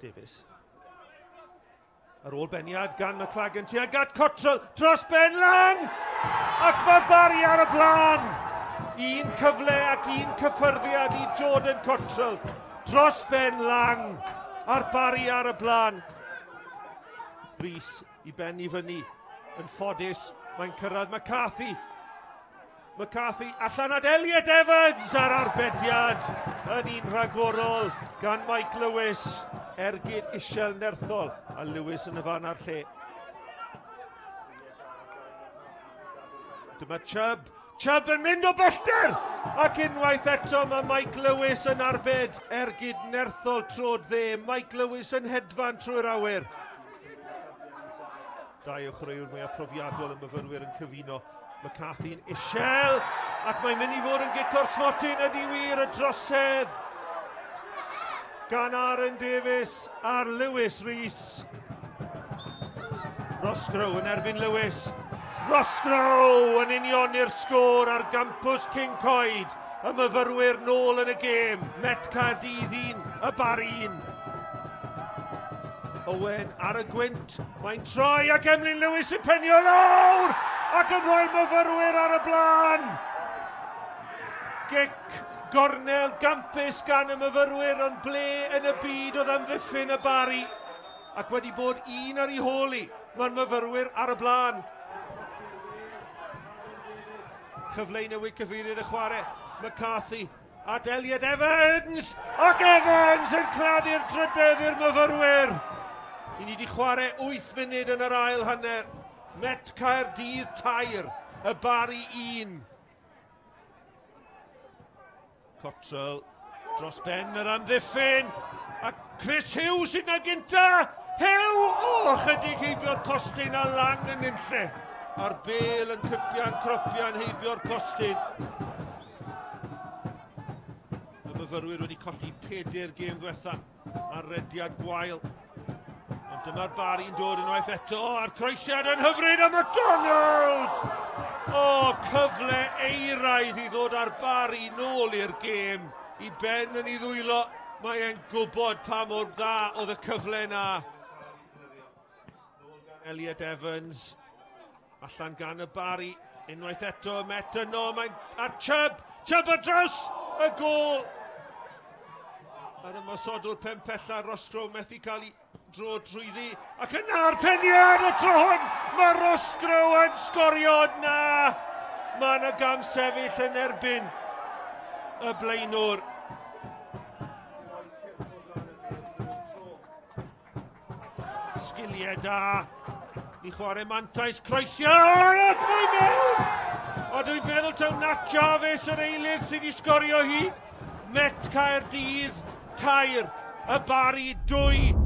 Davies. Ar ôl beniad gan McLagan tuag at Cottrell dros ben Lang! Ac mae Barry ar y blaen! Un cyfle ac un cyffyrddiad i Jordan Cottrell dros ben Lang a'r Barry ar y blaen. Rhys i ben i fyny. Yn ffodus, mae'n cyrraedd McCarthy. McCarthy allan at Elliot Evans ar arbediad yn un rhagorol gan Mike Lewis. Ergyd isiel nerthol a Lewis yn y fan a'r lle. Dyma Chubb. Chubb yn mynd o bellter! Ac unwaith eto mae Mike Lewis yn arbed. Ergyd nerthol trod dde. Mike Lewis yn hedfan trwy'r awyr. Dau o chwaraewyr mwyaf profiadol y myfyrwyr yn cyfuno. McCarthy'n isiel, ac mae'n mynd i fod yn gic o'r smotyn ydy wir y drosedd gan Aaron Davies ar Lewis Rees. Roscrow yn erbyn Lewis. Roscrow yn unioni'r sgôr ar gampws Cyncoed. Y myfyrwyr nôl yn y gêm. Met Caerdydd 1, y Barri 1. Owen ar y gwynt, mae'n troi ac Emlyn Lewis yn penio lawr ac yn rhoi'r myfyrwyr ar y blaen. Gic gornel gampus gan y myfyrwyr, ond ble yn y byd oedd amddiffyn y Barri ac wedi bod un ar ei hôl i. Mae'r myfyrwyr ar y blaen. Cyfle i newid cyfeiriad y chwarae. McCarthy at Elliot Evans, ac Evans yn claddu'r drydedd i'r myfyrwyr. I ni wedi chwarae 8 munud yn yr ail hanner. Met Caerdydd 3, y Barri 1. Cottrell dros ben yr amddiffyn, a Chris Hughes sydd na gynta. Hugh! O, chydig heibio'r postyn a Lang yn unlle. A'r bel yn cypian, cropian heibio'r postyn. Y myfyrwyr wedi colli 4 gêm ddiwetha ar rediad gwael. Ond dyma'r Barri'n dod unwaith eto, a'r croesiad yn hyfryd a McDonald! O, cyfle eiraidd i ddod â'r Barri nôl i'r gêm. I ben yn ei ddwylo, mae e'n gwybod pa mor dda oedd y cyfle na. Elliot Evans, allan gan y Barri, unwaith eto, Met yno, mae'n... A Chubb! Chubb ar draws y gôl! A'r ymosodwr pen pella, Roscrow methu cael ei dro drwyddi, ac yna'r peniad y tro hwn, mae Roscrow yn sgorio na! Mae yna gam sefyll yn erbyn y blaenwr. Sgiliau da i chwarae mantais, croesiad, ac mae mewn! A dwi'n meddwl taw Nat Jarvis yr eilydd sydd wedi sgorio hi. Met Caerdydd 3, y Barri 2.